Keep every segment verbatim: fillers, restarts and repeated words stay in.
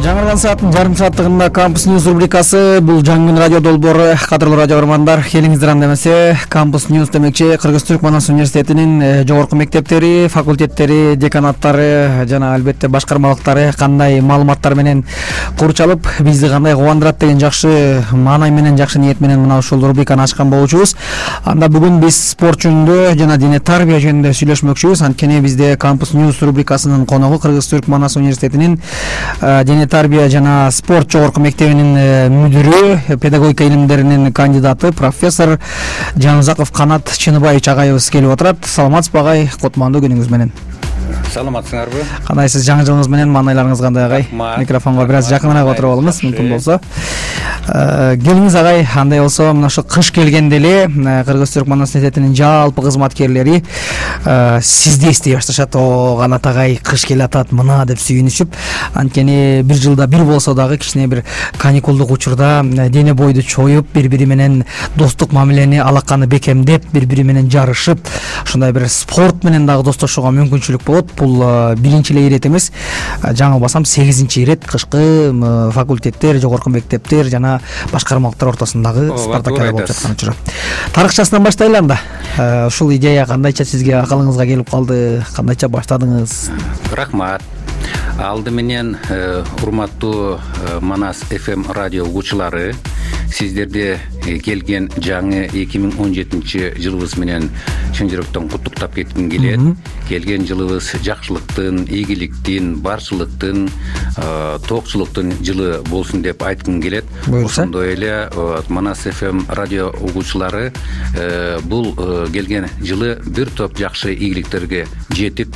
Жаңырган сааттын жарым сааттыгында Кампус Ньюс рубрикасы. Бул жаңы күн радио долбоору. Кадырлуу радио көрөрмандар, келиңиздер анда эмесе. Кампус Ньюс демекчи Кыргыз-Түрк Манас университетинин жогорку мектептери, факультеттери, деканаттары жана албетте башкармалыктары кандай маалыматтар менен курчалып, бизди кандай кубандырат деген жакшы маанай менен, жакшы ниет менен мына ушул рубриканы ачкан болчубуз. Анда бүгүн биз спорт жөнүндө жана дене тарбия жөнүндө сүйлөшмөкчүбүз. Анткени бизде Кампус Ньюс рубрикасынын коногу Кыргыз-Түрк Манас университетинин дене тарбия жана спорт жогорку мектебинин мүдүрү, педагогика илимдеринин кандидаты, профессор Жанузаков Канат Чыныбаевич агайыбыз келип отурат. Саламатсызбы агай, кутмандуу күнүңүз менен. Саламатсыңарбы? Кандайсыз, жаңы жылыңыз менен, маанайларыңыз кандай агай? Микрофонго бир аз жакыныраак отуруп алыңыз, мүмкүн болсо. Келиңиз агай, андай болсо, мына ошо кыш келгенде эле Кыргыз-Түрк Манас университетинин жалпы кызматкерлери сизди эстей башташат. О, Канат агай, кыш келатат мына деп сүйүнүшүп, анткени бир жылда бир болсо дагы кичине бир каникулдук учурда дене бойду чоюп, бири-бири менен достук мамилени алаканы бекемдеп, бири-бири менен жарышып, ушундай бир спорт менен дагы достошууга мүмкүнчүлүк болот. Бул биринчи эле ирет эмес, жаңылбасам сегизинчи ирет кышкы факультеттер, жогорку мектептер жана башкармалыктар ортосундагы спартакиада болуп жаткан учур. Тарыхчасынан баштайлы анда. Ушул идея кандайча сизге акылыңызга келип калды, кандайча баштадыңыз? Рахмат. Алды менен урматтуу Манас эф эм радио угуучулары, сиздерди келген жаңы эки миң он жетинчи жылыбыз менен чын жүрөктөн куттуктап кетким келет. Келген жылыбыз жакшылыктын, ийгиликтин, барчылыктын, тоокчулуктун жылы болсун деп айткым келет. Ошондой эле Манас эф эм радио угуучулары бул келген жылы бир топ жакшы ийгиликтерге жетип,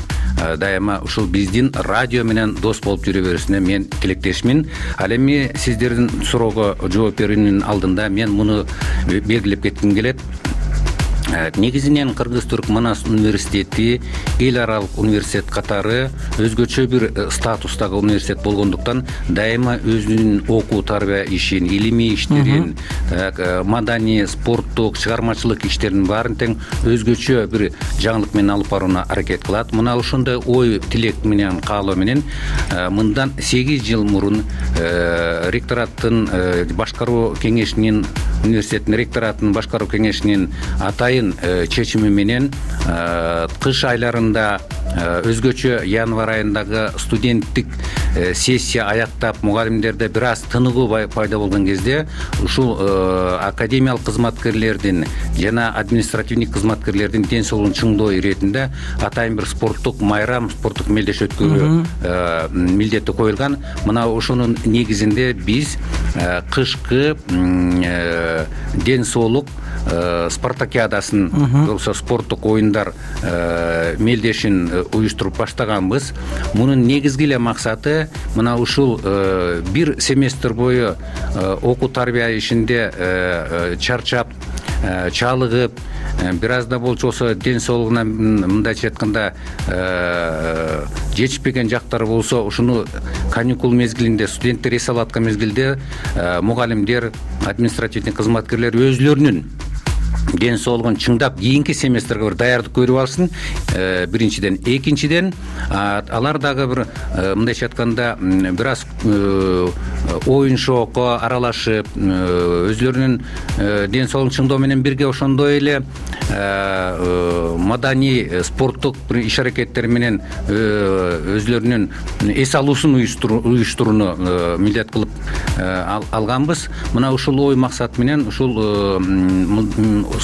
дайыма ушул биздин радио менен дос болуп жүрө берүүсүнө мен тилектешмин. Ал эми сиздердин суроого жооп берүүнүн алдында мен муну белгилеп кетким келет. Негизинен Кыргыз-Түрк Манас университети эл аралык университет катары өзгөчө бир статустагы университет болгондуктан дайыма өзүнүн окуу тарбия ишин, илимий иштерин, маданий, спорттук, чыгармачылык иштерин баарын тең өзгөчө бир жаңылык менен алып барууна аракет кылат. Мына ошондой ой тилек менен, каалоо менен мындан сегиз жыл мурун ректораттын башкаруу кеңешинин, университеттин ректораттын башкаруу кеңешинин атайын чечими менен кыш айларында өзгөчө январь айындагы студенттик сессия аяктап, мугалимдерде бир аз тыныгуу пайда болгон кезде ушул академиялык кызматкерлердин жана административдик кызматкерлердин ден соолугун чыңдоо иретинде атайын бир спорттук майрам, спорттук мелдеш өткөрүү милдети коюлган. Мына ошонун негизинде биз кышкы ден соолук спартакиадасын, болсо спорттук оюндар мелдешин уюштуруп баштаганбыз. Мунун негизги эле максаты мына ушул бир семестр бою окуу тарбия ишинде чарчап, чалыгып, бир аз да болчосо ден соолугуна мындайча айтканда жетишпеген жактары болсо, ушуну каникул мезгилинде, студенттер эс алып аткан мезгилде мугалимдер, административдик кызматкерлер өзлөрүнүн ден соолугун чыңдап, кийинки семестрге бир даярдык көрүп алсын. Биринчиден, экинчиден алар дагы бир мындайча айтканда бир аз оюн шоокко аралашып, өзлөрүнүн ден соолугун чыңдоо менен бирге ошондой эле маданий, спорттук бир иш аракеттер менен өзлөрүнүн эс алуусун уюштурууну милдет кылып алганбыз. Мына ушул ой максат менен ушул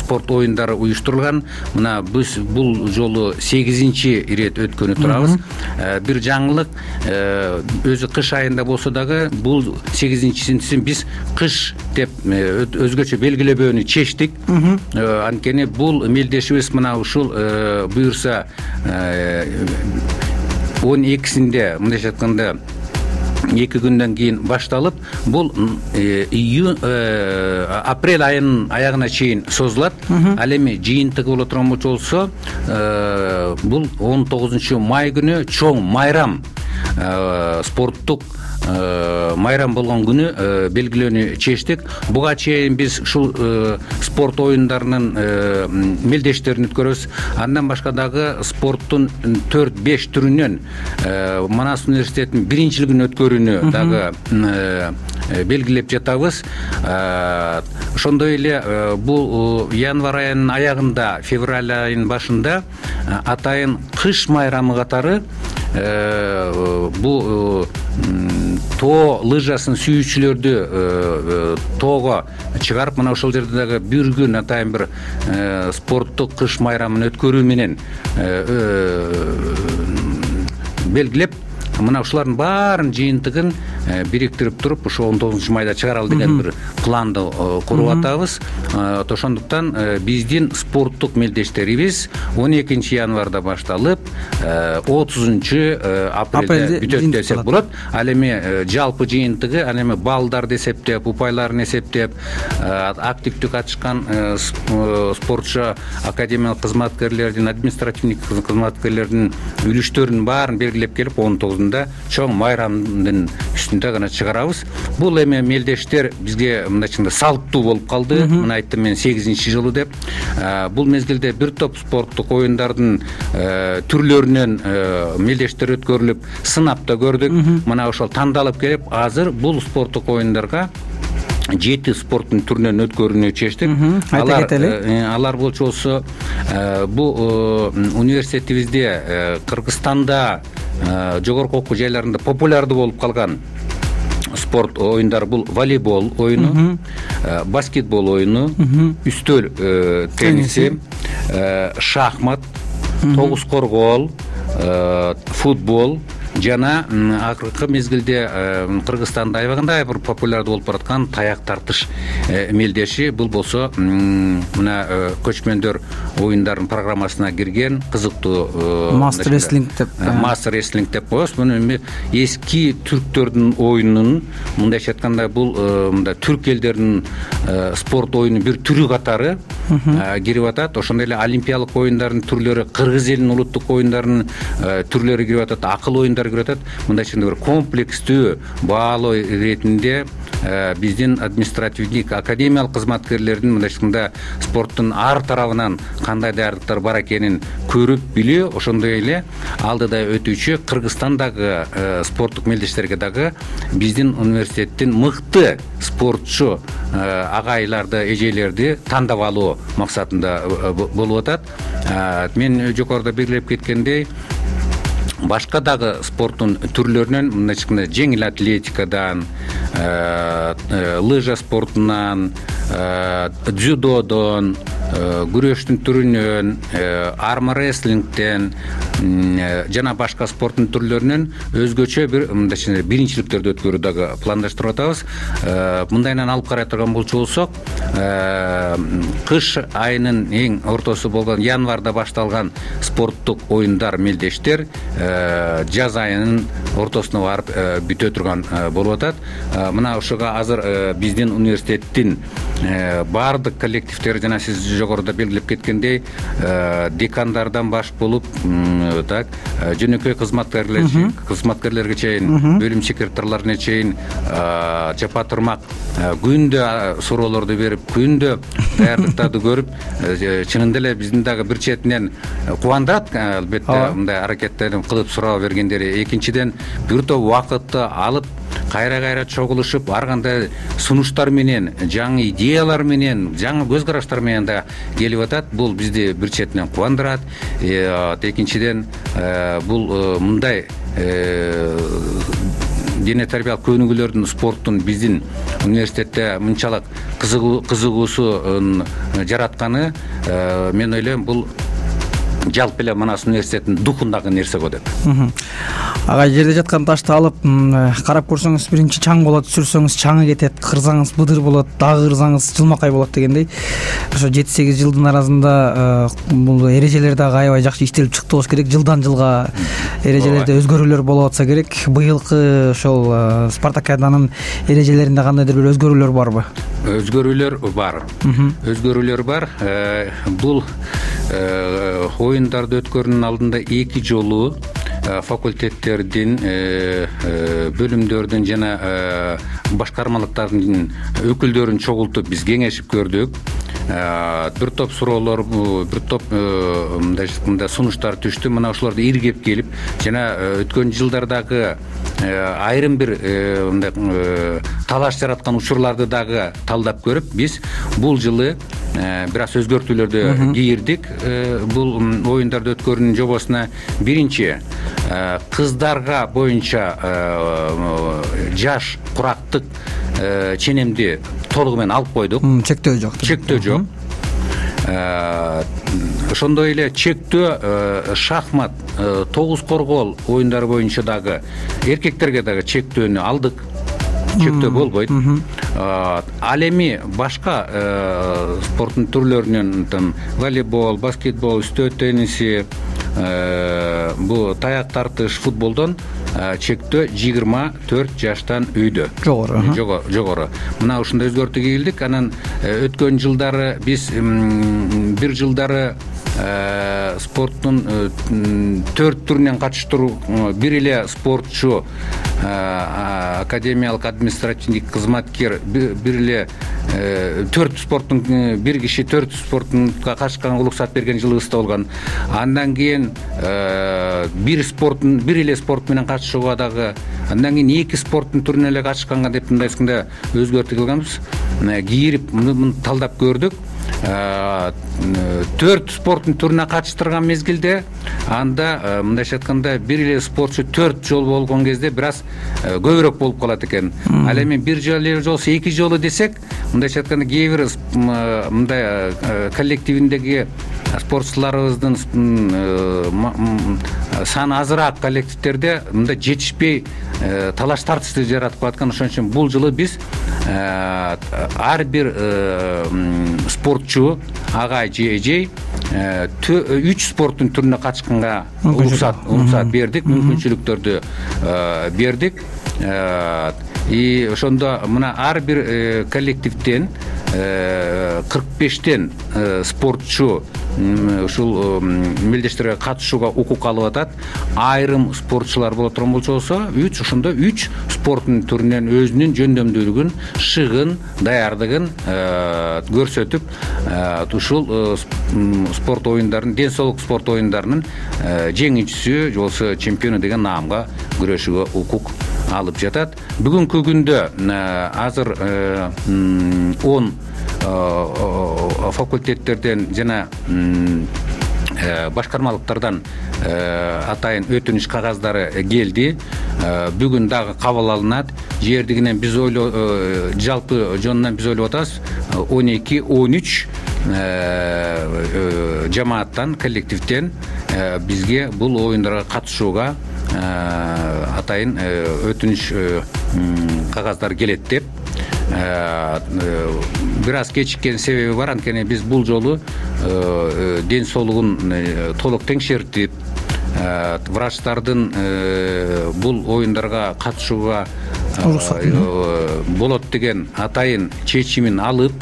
спорт оюндары уюштурулган. Мына биз бул жолу сегизинчи ирет өткөнү турабыз. Бир жаңылык, өзү кыш айында болсо дагы бул сегизинчисин биз кыш деп өзгөчө белгилебөөнү чечтик. Анткени бул мелдешибиз мына ушул буюрса он экисинде мындайча айтканда эки күндөн кийин башталып, бул июнь апрель айынын аягына чейин созулат. Ал эми жыйынтыгы боло турган болсо, бул он тогузунчу май күнү чоң майрам спорттук майрам болгон күнү белгилөөнү чечтик. Буга чейин биз ушул спорт оюндарынын мелдештерин өткөрөбүз. Андан башка дагы спорттун төрт беш түрүнөн Манас университетинин биринчилигин өткөрүүнү дагы белгилеп жатабыз. Ошондой эле бул январь айынын аягында, февраль айынын башында атайын кыш майрамы катары бул тоо лыжасын сүйүүчүлөрдү тоого чыгарып, мына ошол жерде дагы бир күн атайын бир спорттук кыш майрамын өткөрүү менен белгилеп, мына ушулардын баарын жыйынтыгын бириктирип туруп, ушу он тогузунчу майда чыгаралы деген бир планды куруп атабыз. Ошондуктан биздин спорттук мелдештерибиз он экинчи январда башталып, отузунчу апрелде бүтөт десек болот. Ал эми жалпы жыйынтыгы, ал эми баллдарды эсептеп, упайларын эсептеп, активдүү катышкан спортчу, академиялык кызматкерлердин, административдик кызматкерлердин үлүштөрүнүн баарын белгилеп келип, он тогузунда чоң майрамдын үстүндө гана чыгарабыз. Бул эми мелдештер бизге мындайча салттуу болуп калды. Мына айттым мен сегизинчи жылы деп. Бул мезгилде бир топ спорттук оюндардын түрлөрүнөн мелдештер өткөрүлүп, сынап да көрдүк. Мына ошол тандалып келип, азыр бул спорттук оюндарга жети спорттун түрүнөн өткөрүүнү чечтик. Алар алар болчу болсо бул университетибизде, Кыргызстанда жогорку окуу жайларында популярдуу болуп калган спорт оюндары бул волейбол оюну, баскетбол оюну, үстөл тенниси, шахмат, тогуз коргоол, футбол жана акыркы мезгилде Кыргызстандын аябагында бир популярдуу болуп бараткан таяк тартыш мелдеши. Бул болсо мына көчмөндөр оюндарынын программасына кирген кызыктуу мастер реслинг деп мастер реслинг деп коебуз. Муну эски түрктөрдүн оюнунун, мындайча айтканда, бул мында түрк элдеринин спорт оюнунун бир түрү катары кирип атат. Ошондой эле олимпиялык оюндардын түрлөрү, кыргыз элинин улуттук оюндарынын түрлөрү кирип атат, акыл оюндар кирип атат. Мындайча бир комплекстүү баалоо иретинде биздин административдик, академиялык кызматкерлердин мындайча спорттун ар тарабынан кандай даярдыктар бар экенин көрүп билүү, ошондой эле алдыда өтүүчү Кыргызстандагы спорттук мелдештерге дагы биздин университеттин мыкты спортчу агайларды, эжелерди тандап алуу максатында болуп атат. Мен жогоруда белгилеп кеткендей, башка дагы спорттун түрлөрүнөн, мындайча жеңил атлетикадан, лыжа спортунан, дзюдодон, күрөштүн түрүнөн, армрестлингден жана башка спорттун түрлөрүнөн өзгөчө бир мындайча биринчиликтерди өткөрүү дагы пландаштырып атабыз. Мындайынан алып карай турган болчу болсок, кыш айынын эң ортосу болгон январда башталган спорттук оюндар, мелдештер жаз айынын ортосуна барып бүтө турган болуп атат. Мына ошого азыр биздин университеттин баардык коллективдери, жана сиз жогоруда белгилеп кеткендей, декандардан баш болуп, так, жөнөкөй кызматкерлер, кызматкерлерге чейин, бөлүм секретарларына чейин жапа турмак күндө суроолорду берип, күндө даярдыктарды көрүп, чынында эле биздин дагы бир четинен кубандырат, албетте, мындай аракеттерин кылып суроо бергендери. Экинчиден, бир топ убакытты алып, кайра-кайра чогулушуп, ар кандай сунуштар менен, жаңы идеялар менен, жаңы көз караштар менен да келип атат. Бул бизди бир четинен кубандырат. Экинчиден, бул мындай дене тарбиялык көнүгүүлөрдүн, спорттун биздин университетте мынчалык кызыгуусун жаратканы, мен ойлойм, бул жалпы эле Манас университетинин духундагы нерсе го деп. Ага, жерде жаткан ташты алып карап көрсөңүз, биринчи чаң болот, сүрсөңүз чаңы кетет, кырсаңыз быдыр болот, дагы кырсаңыз жылмакай болот дегендей. Ошо жети сегиз жылдын арасында бул эрежелер дагы аябай жакшы иштелип чыкты болуш керек. Жылдан жылга эрежелерде өзгөрүүлөр болуп атса керек. Быйылкы ошол спартакиаданын эрежелеринде кандайдыр бир өзгөрүүлөр барбы? Өзгөрүүлөр бар. Өзгөрүүлөр бар. Бул оюндарды өткөрүүнүн алдында эки жолу факультеттердин, бөлүмдөрдүн жана башкармалыктардын өкүлдөрүн чогултуп биз кеңешип көрдүк. Бир топ суроолор, бир топ мындай айтканда сунуштар түштү. Мына ошолорду иргеп келип, жана өткөн жылдардагы айрым бир мындай талаш жараткан учурларды дагы талдап көрүп, биз бул жылы бир аз өзгөртүүлөрдү кийирдик. Бул оюндарды өткөрүүнүн жобосуна биринчи кыздарга боюнча жаш курактык ченемди толугу менен алып койдук. Чектөө жок. Чектөө жок. Ошондой эле чектөө шахмат, тогуз коргоол оюндары боюнча дагы эркектерге дагы чектөөнү алдык. Чектөө болбойт. Ал эми башка спорттун түрлөрүнөн, там волейбол, баскетбол, үстөө тенниси, бул таяк тартыш, футболдон чектөө жыйырма төрт жаштан үйдө. Жогору. Жогору. Мына ушундай өзгөртүү кийилдик. Анан өткөн жылдары биз бир жылдары спорттун төрт түрүнөн катыштыруу, бир эле спортчу, академиялык административдик кызматкер, бир эле төрт спорттун бир киши төрт спорттунга катышканга уруксат берген жылыбыз да болгон. Андан кийин бир спорттун бир эле спорт менен катышууга дагы, андан кийин эки спорттун түрүнө эле катышканга деп мындай айтканда өзгөртүү кылганбыз. Кийирип муну талдап көрдүк. Төрт спорттун түрүнө катыштырган мезгилде анда мындайча айтканда бир эле спортчу төрт жолу болгон кезде бир аз көбүрөөк болуп калат экен. Ал эми бир жолу болсо эки жолу десек, мындайча айтканда кээ бир мындай коллективиндеги спортчуларыбыздын саны азыраак коллективдерде мындай жетишпей талаш тартышты жаратып калаткан. Ошон үчүн бул жылы биз ар бир спортчу агай же эжей үч спорттун түрүнө катышканга уруксат уруксат бердик, мүмкүнчүлүктөрдү бердик. И ошондо мына ар бир коллективден кырк бештен спортчу ушул мелдештерге катышууга укук алып атат. Айрым спортчулар боло турган болсо, үч ошондо үч спорттун түрүнөн өзүнүн жөндөмдүүлүгүн, шыгын, даярдыгын көрсөтүп, ушул спорт оюндарын, ден соолук спорт оюндарынын жеңүүчүсү, болсо чемпиону деген наамга күрөшүүгө укук алып жатат. Бүгүнкү күндө азыр он факультеттерден жана башкармалыктардан атайын өтүнүш кагаздары келди. Бүгүн дагы кабыл алынат. Жердигинен биз ойлоо, жалпы жонунан биз ойлоп атабыз, он эки он үч жамааттан, коллективден бизге бул оюндарга катышууга атайын өтүнүш кагаздар келет деп. Бир аз кечиккен себеби бар. Анткени биз бул жолу ден соолугун толук теңшертип, врачтардын бул оюндарга катышууга болот деген атайын чечимин алып,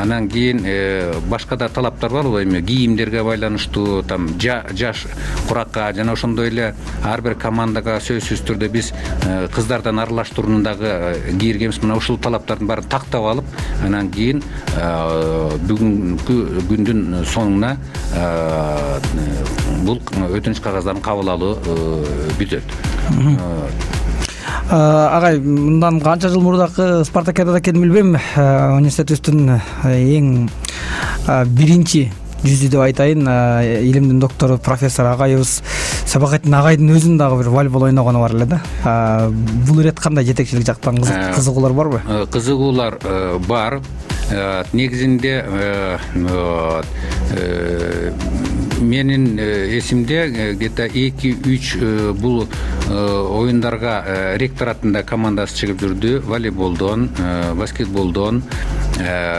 анан кийин башка да талаптар бар, эми кийимдерге байланыштуу, там жаш куракка жана ошондой эле ар бир командага сөзсүз түрдө биз кыздардан аралаштырууну дагы кийиргенбиз. Мына ушул талаптардын баарын тактап алып, анан кийин бүгүнкү күндүн соңуна бул өтүнүч кагаздарын кабыл алуу бүтөт. Агай, мындан канча жыл мурдакы спартакиадада экенин билбейм, университетибиздин эң биринчи жүзү деп айтайын, илимдин доктору профессор агайыбыз Сабакатин агайдын өзүнүн дагы бир волейбол ойногону бар эле да. Бул ирет кандай жетекчилик жактан кызыгуулар барбы? Кызыгуулар бар. Негизинде менин эсимде где-то эки үч бул оюндарга ректоратында командасы чыгып жүрдү. Волейболдон, баскетболдон,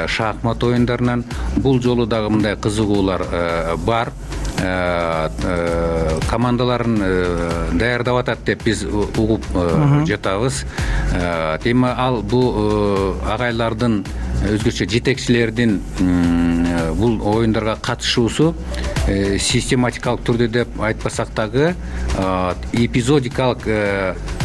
шахмат оюндарынан. Бул жолу дагы мындай кызыгуулар бар. Командаларын даярдап атат деп биз угуп жатабыз. Эми ал бул агайлардын өзгөчө жетекчилердин бул оюндарга катышуусу систематикалык түрдө деп айтпасак дагы эпизодикалык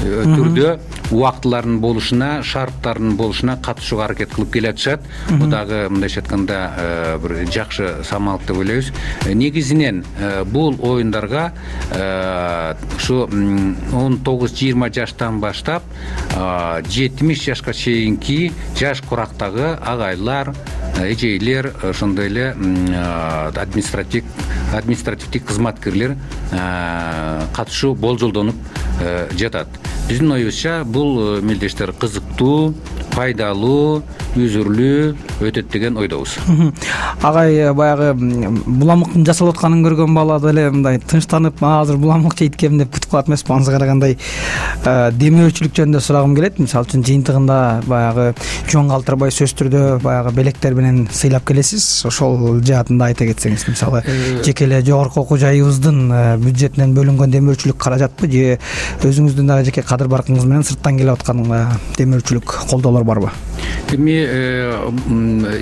түрдө убактылардын болушуна, шарттардын болушуна катышууга аракет кылып келе атышат. Бул дагы мындайча айтканда бир жакшы самалык деп ойлойбуз. Негизинен бул оюндарга ушу он тогуз жыйырма жаштан баштап жетимиш жашка чейинки жаш курактагы агайлар, эжейлер, ошондой эле административ административдик кызматкерлер катышуу болжолдонуп жатат. Биздин оюбузча бул мелдештер кызыктуу, пайдалуу, үзүрлүү өтөт деген ойдобуз. Агай баягы буламыктын жасалып атканын көргөн бала деле мындай тынчтанып, азыр буламык жейткем деп күтүп калат эмеспи? Аны карагандай демөөрчүлүк жөнүндө сурагым келет. Мисалы үчүн жыйынтыгында баягы жон калтырбай сөз түрдө баягы белектер менен сыйлап келесиз. Ошол жаатында айта кетсеңиз, мисалы жеке эле жогорку окуу жайыбыздын бюджетинен бөлүнгөн демөөрчүлүк каражатпы же өзүңүздүн дагы жеке кадыр баркыңыз менен сырттан келип аткан демөөрчүлүк колдоолор барбы? Эми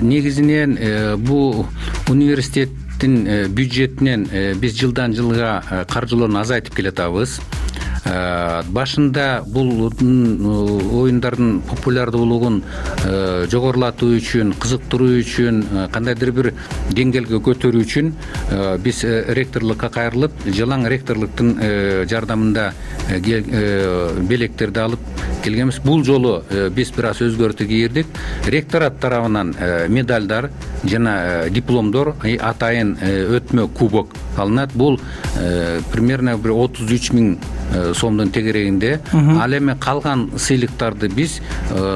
негизинен бул университеттин бюджетинен биз жылдан жылга каржылоону азайтып келатабыз. Башында бул оюндардын популярдуулугун жогорулатуу үчүн, кызыктыруу үчүн, кандайдыр бир деңгээлге көтөрүү үчүн биз ректорлукка кайрылып, жалаң ректорлуктун жардамында белектерди алып келгенбиз. Бул жолу биз бир аз өзгөртүү кийирдик. Ректорат тарабынан медалдар жана дипломдор, атайын өтмө кубок алынат. Бул примерно бир отуз үч миң сомдун тегерегинде. Ал эми калган сыйлыктарды биз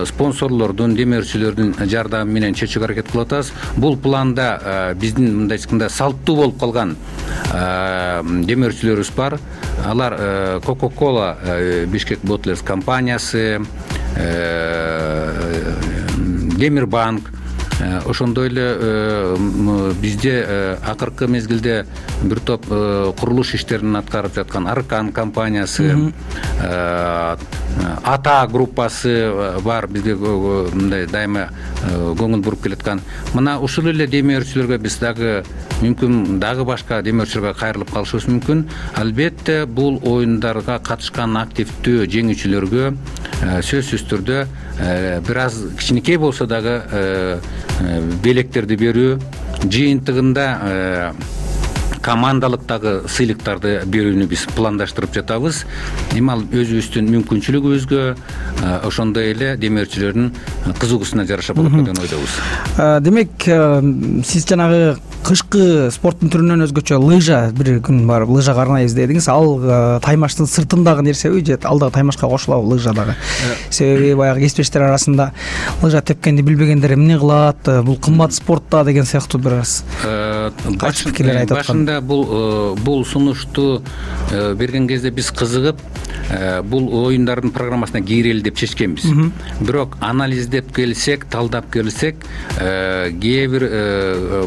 спонсорлордун, демөөрчүлөрдүн жардамы менен чечүүгө аракет кылып атабыз. Бул планда биздин мындай айтканда салттуу болуп калган демөөрчүлөрүбүз бар. Алар Coca-Cola Бишкек Bottlers компаниясы, Демирбанк, ошондой эле бизде акыркы мезгилде бир топ курулуш иштерин аткарып жаткан Аркан компаниясы, Ата группасы бар, бизге мындай дайыма көңүл буруп келаткан. Мына ушул эле демөөрчүлөргө биз дагы мүмкүн дагы башка демөөрчүлөргө кайрылып калышыбыз мүмкүн. Албетте бул оюндарга катышкан активдүү жеңүүчүлөргө сөзсүз түрдө бир аз кичинекей болсо дагы белектерди берүү, жыйынтыгында командалыктагы сыйлыктарды берүүнү биз пландаштырып жатабыз. Эми ал өзүбүздүн мүмкүнчүлүгүбүзгө, ошондой эле демөөрчүлөрдүн кызыгуусуна жараша болот деген ойдобуз. Демек, сиз жанагы кышкы спорттун түрүнөн өзгөчө лыжа бир күн барып лыжага арнайбыз дедиңиз. Ал таймаштын сыртындагы нерсеби же ал дагы таймашка кошулабы лыжа дагы? Себеби баягы кесиптештер арасында лыжа тепкенди билбегендер эмне кылат, бул кымбат спорт да деген сыяктуу бир аз кайчы пикирлер айтып аткан. Башында бул бул сунушту берген кезде биз кызыгып бул оюндардын программасына кийрели деп чечкенбиз. Бирок анализдеп келсек, талдап келсек, кээ бир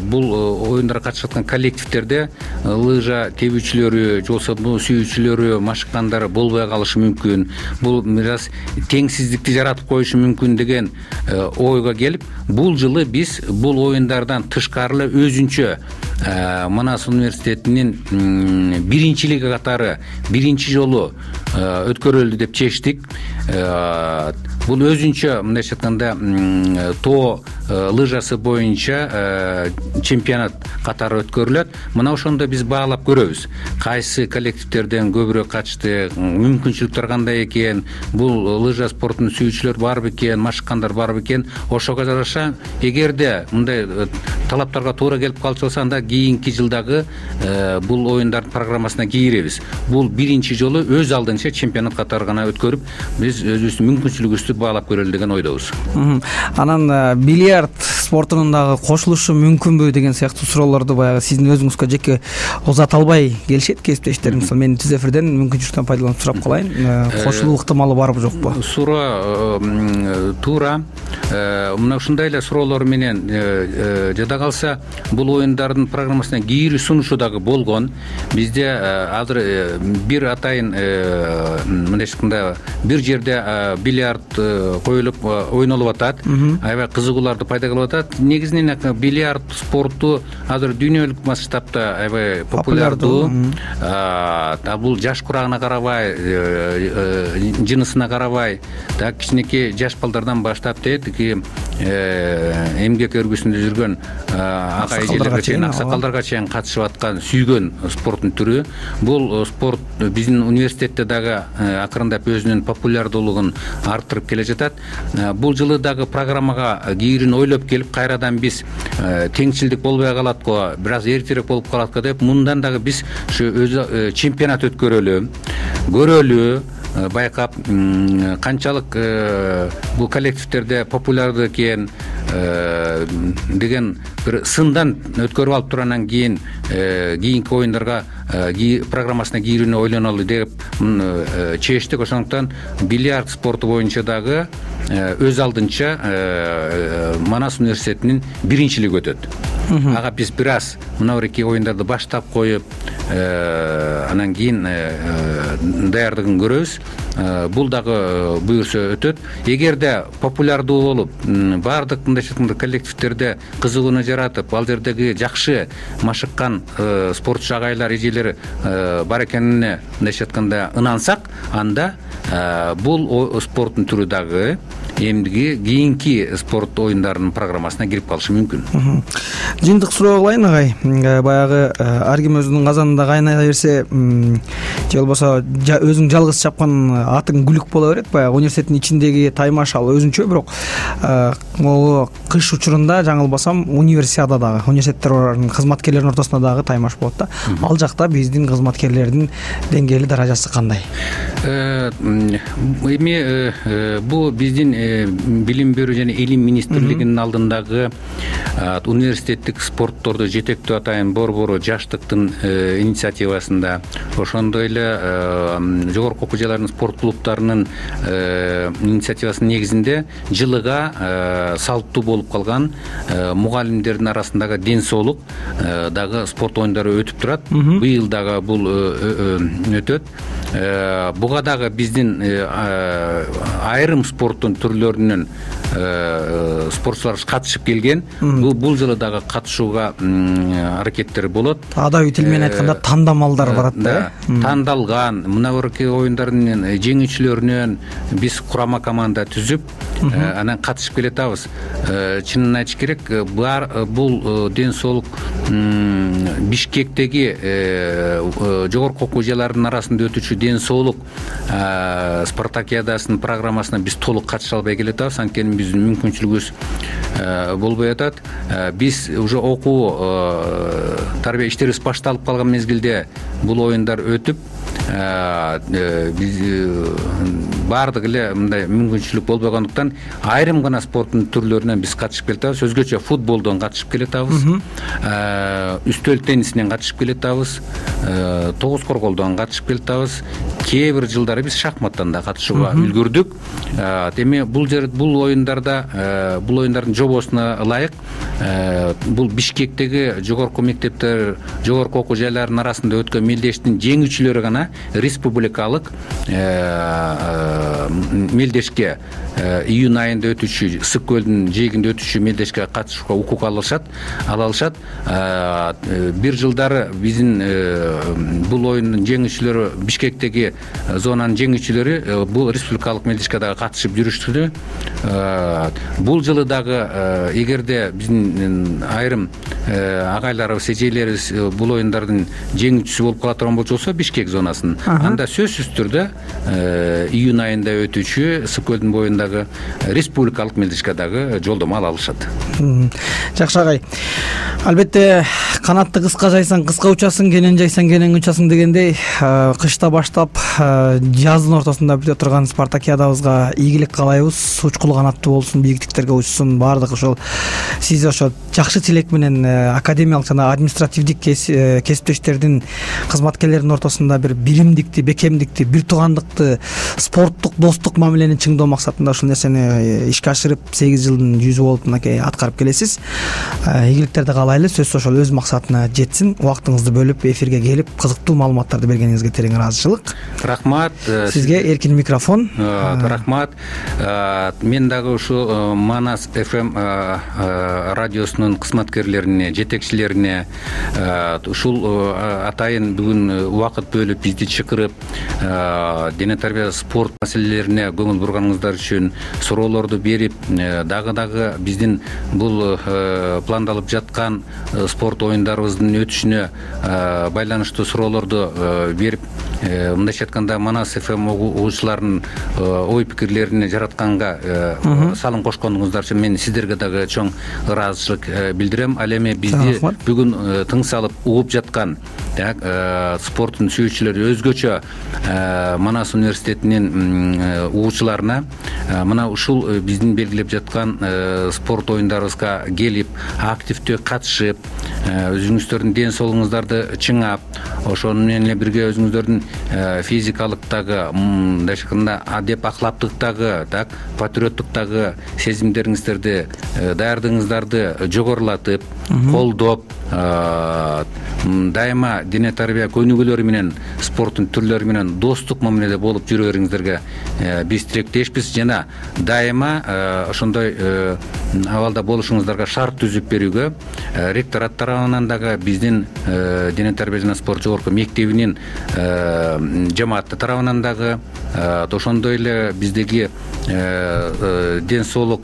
бул оюндарга катышып аткан коллективдерде лыжа тебүүчүлөрү, же болбосо муну сүйүүчүлөрү, машыккандары болбой калышы мүмкүн. Бул бир аз теңсиздикти жаратып коюшу мүмкүн деген ойго келип, бул жылы биз бул оюндардан тышкары эле өзүнчө Манас университетинин биринчилиги катары биринчи жолу өткөрүлдү деп чечтик. Бул өзүнчө мындайча айтканда тоо лыжасы боюнча чемпионат катары өткөрүлөт. Мына ошондо биз баалап көрөбүз. Кайсы коллективдерден көбүрөөк качты, мүмкүнчүлүктөр кандай экен, бул лыжа спортун сүйүүчүлөр барбы экен, машыккандар барбы экен. Ошого жараша, эгерде мындай талаптарга туура келип калчу болсо, анда кийинки жылдагы бул оюндардын программасына кийиребиз. Бул биринчи жолу өз алдынча чемпионат катары гана өткөрүп, биз өзүбүздүн мүмкүнчүлүгүбүздү баалап көрөлү деген ойдобуз. Анан бильярд спортунун дагы кошулушу мүмкүнбү деген сыяктуу суроолорду баягы сиздин өзүңүзгө жеке узата албай келишет кесиптештер. Мисалы мен түз эфирден мүмкүнчүлүктөн пайдаланып сурап калайын, кошулуу ыктымалы барбы жокпу? Суроо туура. Мына ушундай эле суроолор менен жада калса, бул оюндардын программасына кийири сунушу дагы болгон. Бизде азыр бир атайын мындай айтканда бир жерде бильярд коюлуп ойнолуп атат, аябай кызыгууларды пайда кылып атат. Негизинен бильярд спорту азыр дүйнөлүк масштабта аябай популярдуу. Бул жаш курагына карабай, жынысына карабай, так кичинекей жаш балдардан баштап тетиги эмгек өргүсүндө жүргөн ага эжелерге чейин, аксакалдарга чейин катышып аткан сүйгөн спорттун түрү. Бул спорт биздин университетте дагы акырындап өзүнүн популярдуулугун арттырып келе жатат. Бул жылы дагы программага кийирин ойлоп келип, кайрадан биз теңчилдик болбой калат го, бир аз эртерээк болуп калат го деп, мындан дагы биз ушу өзү чемпионат өткөрөлү, көрөлү, байкап канчалык бул коллективдерде популярдуу экен деген бир сындан өткөрүп алып туруп, анан кийин кийинки оюндарга программасына кийүүнү ойлонолу деп чечтик. Ошондуктан бильярд спорту боюнча дагы өз алдынча Манас университетинин биринчилиги өтөт. Ага биз бир аз мынабырки оюндарды баштап коюп, анан кийин даярдыгын көрөбүз. Бул дагы буюрса өтөт. Эгерде популярдуу болуп, баардык мындай айтканда коллективдерде кызыгууну жаратып, ал жердеги жакшы машыккан спортчу агайлар, эжелер бар экенине мындай айтканда ынансак, анда бул спорттун түрү дагы эмдиги кийинки спорт оюндарынын программасына кирип калышы мүмкүн. Жыйынтык суроо кылайын агай. Баягы ар ким өзүнүн казанында кайнай берсе, же болбосо өзүң жалгыз чапкан атың күлүк боло берет. Баягы университеттин ичиндеги таймаш ал өзүнчө, бирок могу кыш учурунда жаңылбасам универсиада дагы, университеттердин кызматкерлеринин ортосунда дагы таймаш болот да. Ал жакта биздин кызматкерлердин деңгээли, даражасы кандай? Эми бу биздин билим берүү жана илим министрлигинин алдындагы университеттик спортторду жетектөө атайын борбору жаштыктын инициативасында, ошондой эле жогорку окуу жайлардын спорт клубтарынын инициативасынын негизинде жылыга салттуу болуп калган мугалимдердин арасындагы ден соолук дагы спорт оюндары өтүп турат. Быйыл дагы бул өтөт. Буга дагы биздин айрым спорттун түрлөрүнөн спортчулар катышып келген. Бул жылы дагы катышууга аракеттер болот. Адабий тил менен айтканда тандамалдар барат да. Тандалган мына бирки оюндардын жеңүүчүлөрүнөн биз курама команда түзүп, анан катышып келатабыз. Чынын айтыш керек, бул ден соолук Бишкектеги жогорку окуу жайлардын арасында өтүүчү ден соолук спартакиадасынын программасына биз толук катыша албай келатабыз, анткени биздин мүмкүнчүлүгүбүз болбой атат. Биз уже окуу тарбия иштерибиз башталып калган мезгилде бул оюндар өтүп, биз баардык эле мындай мүмкүнчүлүк болбогондуктан айрым гана спорттун түрлөрүнөн биз катышып келатабыз. Өзгөчө футболдон катышып келатабыз, үстөл теннисинен катышып келатабыз, тогуз корголдон катышып келатабыз. Кээ бир жылдары биз шахматтан да катышууга үлгүрдүк. Эми бул жер бул оюндарда, бул оюндардын жобосуна ылайык бул Бишкектеги жогорку мектептер, жогорку окуу жайларынын арасында өткөн мелдештин жеңүүчүлөрү гана республикалык мелдешке, июнь айында өтүүчү Ысык көлдүн жээгинде өтүүчү мелдешке катышууга укук алышат. Ала алышат. Бир жылдары биздин бул оюндун жеңүүчүлөрү, Бишкектеги зонанын жеңүүчүлөрү бул республикалык мелдешке дагы катышып жүрүштү. Бул жылы дагы эгерде биздин айрым агайларыбыз, эжелерибиз бул оюндардын жеңүүчүсү болуп кала турган болсо, Бишкек зонасынын, анда сөзсүз түрдө июнь айында өтүүчү Ысык көлдүн боюндагы республикалык мелдешке дагы жолдомо ала алышат. Жакшы агай. Албетте канатты кыска жайсаң кыска учасың, кенен жайсаң кенен учасың дегендей, кышта баштап жаздын ортосунда бүтө турган спартакиадабызга ийгилик каалайбыз. Учкул канаттуу болсун, бийиктиктерге учсун, баардык ошол сиз ошо жакшы тилек менен академиялык жана административдик кесиптештердин кызматкерлердин ортосунда бир биримдикти, бекемдикти, бир туугандыкты, спорттук достук мамилени чыңдоо максатында ушул нерсени ишке ашырып сегиз жылдын жүзү болуп мынакей аткарып келесиз. Ийгиликтерди каалайлы, сөзсүз ошол өз максатына жетсин. Убактыңызды бөлүп эфирге келип кызыктуу маалыматтарды бергениңизге терең ыраазычылык. Рахмат. Сизге эркин микрофон. Рахмат. Мен дагы ушу Манас эф эм радиосунун кызматкерлерине, жетекчилерине ушул атайын бүгүн убакыт бөлүп бизди чакырып, дене тарбия спорт маселелерине көңүл бурганыңыздар үчүн, суроолорду берип, дагы дагы биздин бул пландалып жаткан спорт оюндарыбыздын өтүшүнө байланыштуу суроолорду берип, мындайча айтканда Манас эф эм угуучуларынын ой пикирлерине жаратканга салым кошконуңуздар үчүн мен сиздерге дагы чоң ыраазычылык билдирем. Ал эми бизди бүгүн тың салып угуп жаткан спорттун сүйүүчүлөрү, өзгөчө Манас университетинин угуучуларына мына ушул биздин белгилеп жаткан спорт оюндарыбызга келип, активдүү катышып, өзүңүздөрдүн ден соолугуңуздарды чыңап, ошону менен эле бирге өзүңүздөрдүн физикалыктагы, мындайча айтканда адеп ахлактыктагы, так, патриоттуктагы сезимдериңиздерди, даярдыгыңыздарды жогорулатып, колдоп, дайыма дене тарбия көнүгүүлөрү менен, спорттун түрлөрү менен достук мамиледе болуп жүрө бериңиздерге биз тилектешпиз жана дайыма ошондой абалда болушуңуздарга шарт түзүп берүүгө ректорат тарабынан дагы биздин дене тарбия жана спорт жогорку мектебинин жамааты тарабынан дагы ошондой эле биздеги ден соолук,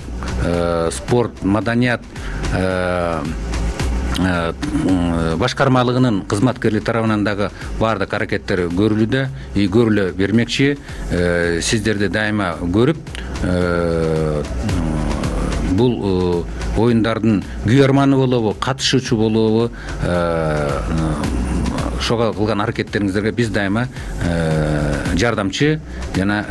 спорт, маданият башкармалыгынын кызматкерлери тарабынан дагы баардык аракеттер көрүлүүдө, и көрүлө бермекчи. Сиздерди дайыма көрүп, бул оюндардын күйөрманы болобу, катышуучу болобу, ошого кылган аракеттериңиздерге биз дайыма жардамчы жана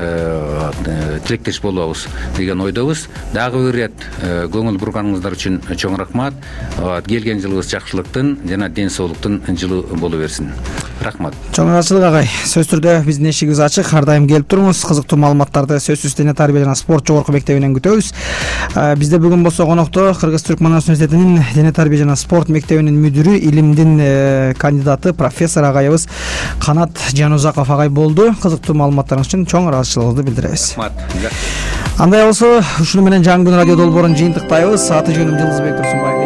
тилектеш болобуз деген ойдобуз. Дагы бир ирет көңүл бурганыңыздар үчүн чоң рахмат. Келген жылыбыз жакшылыктын жана ден соолуктун жылы боло берсин. Рахмат. Чоң ыраазычылык агай. Сөзсүз түрдө биздин эшигибиз ачык. Ар дайым келип туруңуз. Кызыктуу маалыматтарды сөзсүз дене тарбия жана спорт жогорку мектебинен күтөбүз. Бизде бүгүн болсо конокто Кыргыз-Түрк Манас университетинин дене тарбия жана спорт мектебинин мүдүрү, илимдин кандидаты, профессор агайыбыз Канат Жанузаков агай болду. Кызыктуу маалыматтарыңыз үчүн чоң ыраазычылыгыбызды билдиребиз. Рахмат. Андай болсо, ушуну менен жаңы күн радио долбоорун жыйынтыктайбыз. Аты жөнүм Жылдызбек Турсунбаев.